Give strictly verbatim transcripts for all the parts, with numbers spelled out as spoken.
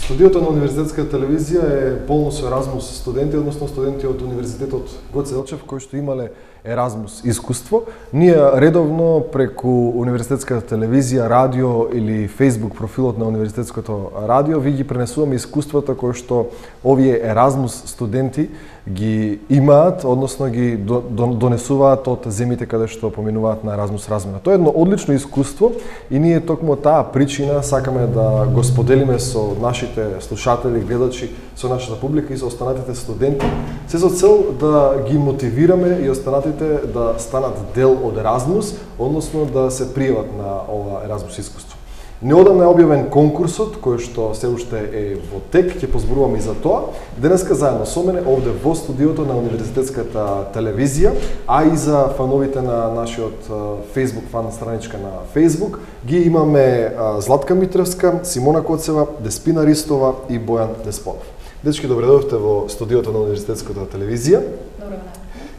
Студиото на Универзитетска телевизија е полно со Еразмус студенти, односно студенти од Универзитетот Гоце Делчев кои што имале Еразмус искуство. Ние редовно преку Универзитетската телевизија, радио или Facebook профилот на Универзитетското радио ви ги пренесуваме искуствата кои што овие Еразмус студенти ги имаат, односно ги донесуваат од земите каде што поминуваат на Еразмус размена. Тоа е едно одлично искуство и ние токму таа причина сакаме да го споделиме со нашите слушатели, гледачи, со нашата публика и со останатите студенти, се со цел да ги мотивираме и останатите да станат дел од Еразмус, односно да се пријават на ова Еразмус искуство. Неодамна е објавен конкурсот, кој што се уште е во тек, ќе позборуваме и за тоа. Денеска заедно со мене, овде во студиото на Универзитетската телевизија, а и за фановите на нашиот Facebook фан страничка на Facebook, ги имаме Златка Митревска, Симона Коцева, Деспина Ристова и Бојан Деспонов. Дечки, добре дојдовте во студиото на Универзитетската телевизија. Добро.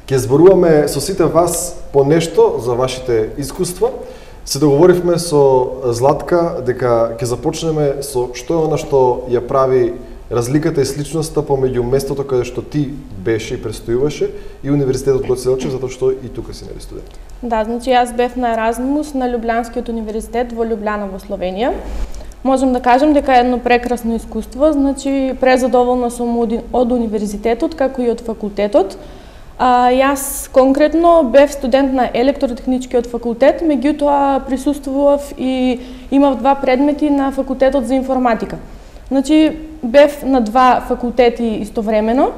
Ќе зборуваме со сите вас по нешто за вашите искуства. Се договоривме со Златка дека ќе започнеме со што е она што ја прави разликата и сличноста помеѓу местото каде што ти беше и престојуваше и Универзитетот Гоце Делчев, затоа што и тука си нели студент. Да, значи јас бев на Еразмус на Љубљанскиот универзитет во Љубљана во Словенија. Можам да кажам дека е едно прекрасно искуство, значи презадоволна сум од универзитетот како и од факултетот. А, јас конкретно бев студент на електротехничкиот факултет, меѓутоа присуствував и имав два предмети на факултетот за информатика. Значи бев на два факултети истовремено,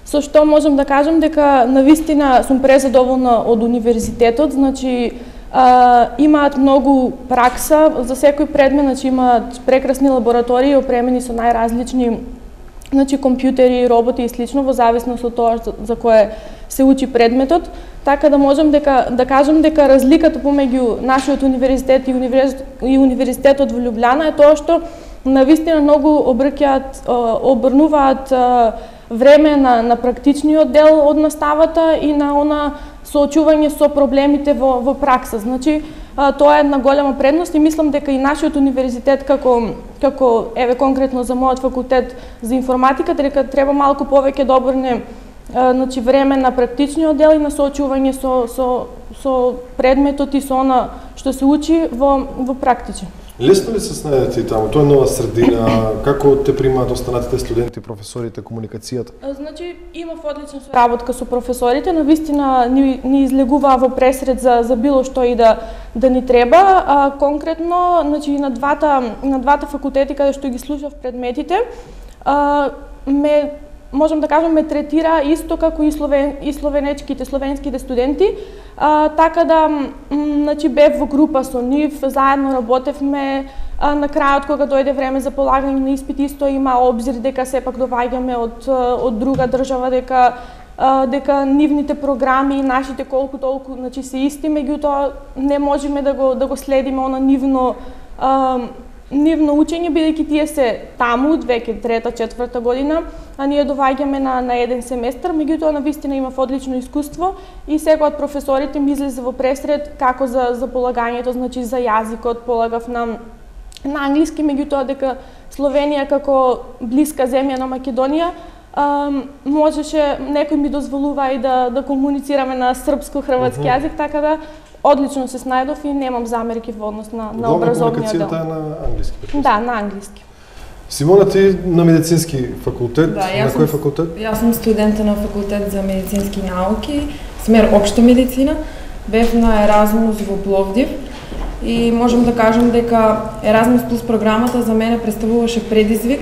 со што можам да кажам дека навистина сум презадоволна од универзитетот, значи а, имаат многу пракса за секој предмет, значи имаат прекрасни лаборатории опремени со најразлични значи компјутери, роботи и слично во зависност од тоа за кое се учи предметот, така да можам дека да кажам дека разликата помеѓу нашиот универзитет и, универз... и универзитетот во Љубљана е тоа што навистина многу обрќаат обрнуваат време на на практичниот дел од наставата и на она соочување со проблемите во во пракса. Значи тоа е една голема предност и мислам дека и нашиот универзитет како како еве конкретно за мојот факултет за информатика дека треба малку повеќе да обрне значи време на практичниот дел и на соочување со со со предметот и со она што се учи во во практичен. Лесно ли се снајдете таму? Тоа е нова средина. Како те примаат останатите студенти, професорите, комуникацијата? Значи имав одлична соработка со професорите, навистина ни, ни излегуваа во пресред за за било што и да да ни треба. А, конкретно, значи на двата на двата факултети каде што ги слушав предметите, а, ме можам да кажам ме третира исто како и словен и словенечките, словенските студенти. А, така да значи бев во група со нив, заедно работевме. А, на крајот кога дојде време за полагање на испит исто има обзир дека сепак доаѓаме од од друга држава, дека а, дека нивните програми и нашите колку толку значи се исти, меѓутоа не можеме да го да го следиме она нивно а, нивно учење, бидејќи тие се таму веќе трета, четврта година, а ние доаѓаме на на еден семестар, меѓутоа навистина имав одлично искуство и секој од професорите ми излезе во пресред како за за полагањето, значи за јазикот полагав на на англиски, меѓутоа дека Словенија како блиска земја на Македонија а, можеше некој ми дозволува и да да комуницираме на српско-хрватски uh -huh. јазик, така да одлично се снајдов и немам замерки во однос на на образовниот дел. Комуникацијата е на англиски. Да, на англиски. Симона, ти на медицински факултет, да, на кој факултет? Јас сум студента на факултет за медицински науки, смер општа медицина. Бев на Еразмус во Пловдив и можам да кажам дека Еразмус плюс програмата за мене представуваше предизвик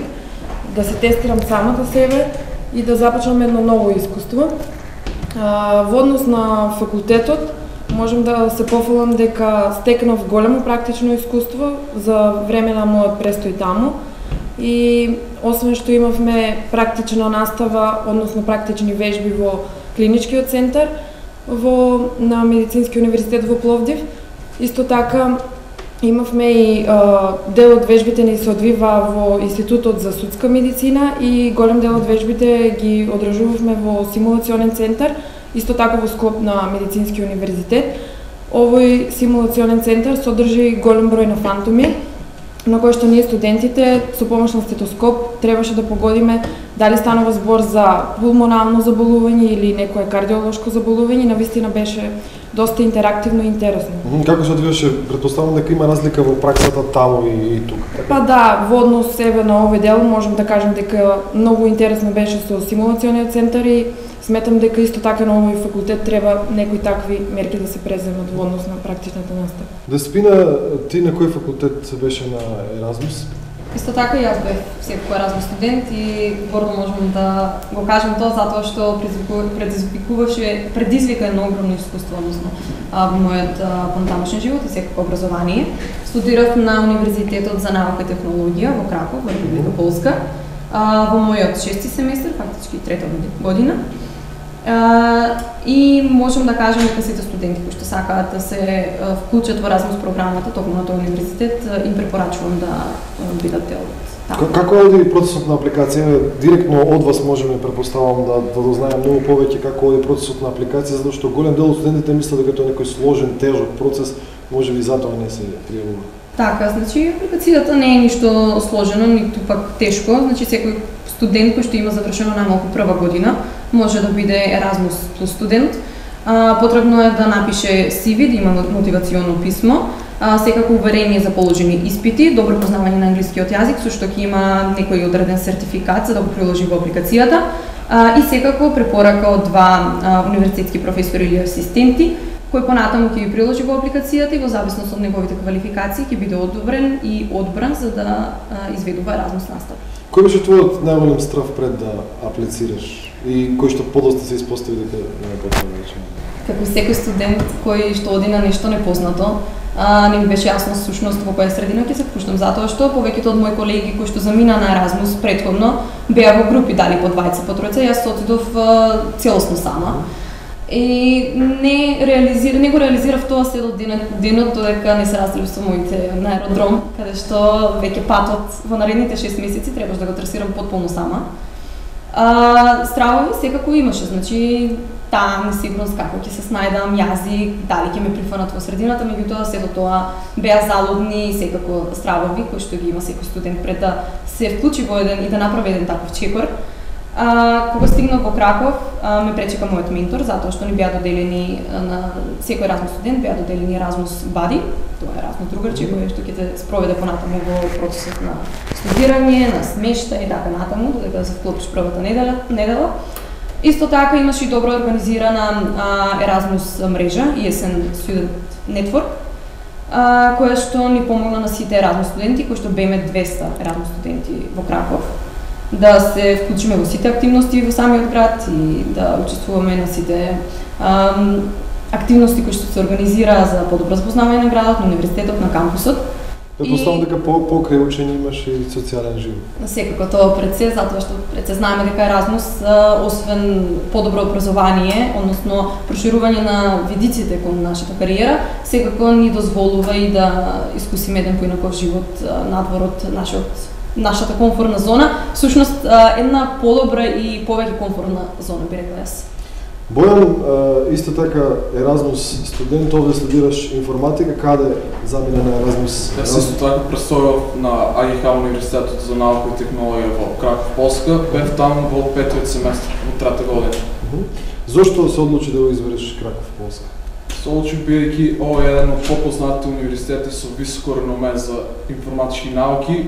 да се тестирам самата себе и да започнам едно ново искуство. Во однос на факултетот можам да се пофалам дека стекнав големо практично искуство за време на мојот престој таму и освен што имавме практична настава, односно практични вежби во клиничкиот центар во на Медицински универзитет во Пловдив, исто така имавме и а, дел од вежбите ни се одвива во Институтот за судска медицина и голем дел од вежбите ги одржувавме во симулационен центар, исто така во склоп на Медицински универзитет. Овој симулационен центар содржи голем број на фантоми на кој што ние студентите со помош на стетоскоп требаше да погодиме дали станува збор за пулмонално заболување или некое кардиолошко заболување. Навистина беше доста интерактивно и интересно. Како се одвиваше? Претпоставам дека има разлика во праксата таму и, и тука. Па да, во однос себе на овој дел можам да кажам дека многу интересно беше со симулациониот центар и сметам дека исто така на овој факултет треба некои такви мерки да се преземат во однос на практичната настава. Деспина, ти на кој факултет беше на Еразмус? Исто така и јас бев секој Еразмус студент и гордо можам да го кажам тоа затоа што предизвикуваше, предизвика едно огромно искуство, односно во мојот понатамошен живот и секако образование. Студирав на Универзитетот за наука и технологија во Краков, во Република Полска, во мојот шести семестар, фактички трета година. Uh, и можам да кажам дека сите студенти кои што сакаат да се uh, вклучат во Еразмус програмата токму на тој универзитет, uh, им препорачувам да uh, бидат дел од таму. Како оди процесот на апликација? Директно од вас можеме, препоставам, да, да дознаем многу повеќе како оди процесот на апликација, затоа што голем дел од студентите мислат дека тоа е некој сложен, тежок процес, можеби затоа не се пријавува. Така, значи апликацијата не е ништо сложено, ниту пак тешко, значи секој студент кој што има завршено најмалку прва година може да биде Еразмус плюс студент. А, потребно е да напише си ви, да има мотивационо писмо, а, секако уверение за положени испити, добро познавање на англискиот јазик, со што ќе има некој одреден сертификат за да го приложи во апликацијата, а, и секако препорака од два а, универзитетски професори или асистенти, кој понатаму ќе ги приложи во апликацијата и во зависност од неговите квалификации ќе биде одобрен и одбран за да а, изведува Еразмус настава. Кој беше твојот најголем страв пред да аплицираш и кој што подоста се испостави дека не е потребно да речеме? Како секој студент кој што оди на нешто непознато, а, не ми беше јасно сушност во која средина ќе се впуштам, затоа што повеќето од мои колеги кои што замина на Еразмус претходно беа во групи, дали по двајца, по тројца, јас отидов целосно сама. И не реализира, не го реализирав тоа се до денот, денот додека не се разделив со моите на аеродром, каде што веќе патот во наредните шест месеци требаш да го трасирам потполно сама. А, стравови секако имаше, значи таа несигурност како ќе се снајдам, јазик, дали ќе ме прифанат во средината, меѓутоа сето тоа беа залудни и секако стравови кои што ги има секој студент пред да се вклучи во еден и да направи еден таков чекор. А, кога стигнав во Краков, а, ме пречека мојот ментор, затоа што ни беа доделени на секој Еразмус студент беа доделени Еразмус бади, тоа е Еразмус другарче кој што ќе те спроведе понатаму во процесот на студирање, на смештај и така натаму, додека да се вклопиш првата недела. недела. Исто така имаше и добро организирана а, Еразмус мрежа, и ес ен Student Network, а, која што ни помогна на сите Еразмус студенти, кои што беме двеста Еразмус студенти во Краков, да се вклучиме во сите активности во самиот град и да учествуваме на сите ам, активности кои што се организира за подобро запознавање на градот, на универзитетот, на кампусот. Претпоставам дека по покрај учење имаш и социјален живот. Секако тоа пред се, затоа што пред се знаеме дека Еразмус, освен подобро образование, односно проширување на видиците кон нашата кариера, секако ни дозволува и да искусиме еден поинаков живот надвор од нашиот нашата комфортна зона, всушност една подобра и повеќе комфортна зона, би рекла јас. Бојан, исто така Еразмус студент, овде студираш информатика, каде замина на Еразмус? Јас исто така престојав на А Г Х Универзитетот за наука и технологија во Краков, Полска, бев таму во петиот семестар, во трета година. Зошто се одлучи да го избереш Краков, Полска? Се одлучи бидејќи ова е еден од попознатите универзитети со високо реноме за информатички науки.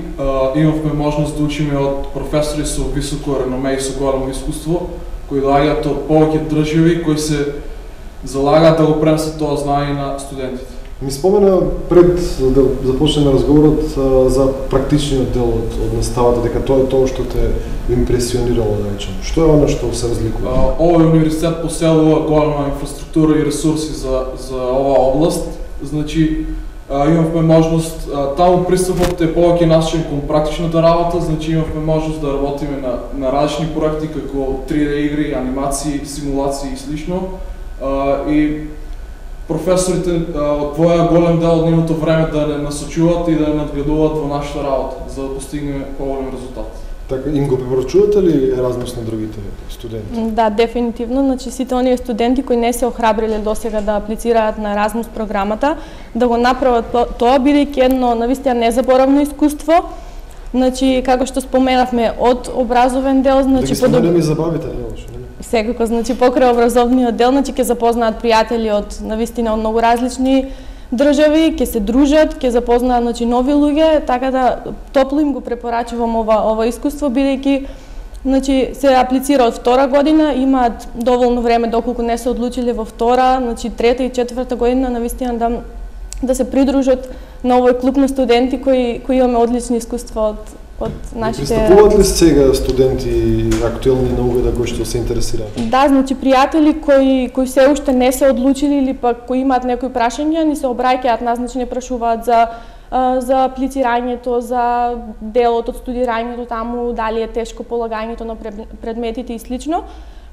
Имавме можност да учиме од професори со високо реноме и со големо искуство, кои доаѓаат од повеќе држави, кои се залагаат да го пренесат тоа знаење на студентите. Ми спомена пред да започнеме разговорот за практичниот дел од, од наставата, дека тоа е тоа што те импресионирало, да речем. Што е оно што се разликува? Овој универзитет поселува голема инфраструктура и ресурси за за оваа област. Значи имавме можност, таму пристапот е повеќе насочен кон практичната работа, значи имавме можност да работиме на на различни проекти како три Д игри, анимации, симулации и слично. И професорите одвоја голем дел од нивното време да не насочуваат и да не надгледуваат во нашата работа, за да постигнеме поголем резултат. Така, им го препорачувате ли Еразмус на другите студенти? Да, дефинитивно. Значи, сите оние студенти кои не се охрабриле досега да аплицираат на Еразмус програмата, да го направат тоа, бидејќи едно навистина незаборавно искуство. Значи, како што споменавме, од образовен дел, значи... Да ги споменаме и забавите, не лошо, не? Секако, значи, покрај образовниот дел, значи, ќе запознаат пријатели од, навистина, од многу различни држави, ќе се дружат, ќе запознаат, значи, нови луѓе, така да топло им го препорачувам ова, ова искуство, бидејќи, значи, се аплицира од втора година, имаат доволно време доколку не се одлучиле во втора, значи, трета и четврта година, навистина, да, да се придружат на овој клуб на студенти кои, кои имаме одлични искуства од, од нашите... Пристапуваат ли сега студенти актуелни на угода кои што се интересираат? Да, значи пријатели кои кои се уште не се одлучили или пак кои имаат некои прашања, ни се обраќаат нас, значи не прашуваат за за аплицирањето, за делот од студирањето таму, дали е тешко полагањето на предметите и слично.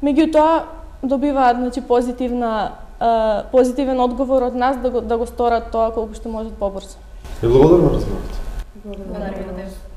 Меѓутоа добиваат, значи, позитивна позитивен одговор од нас да го да го сторат тоа колку што можат побрзо. Е, благодарам, разбирате. Благодарам.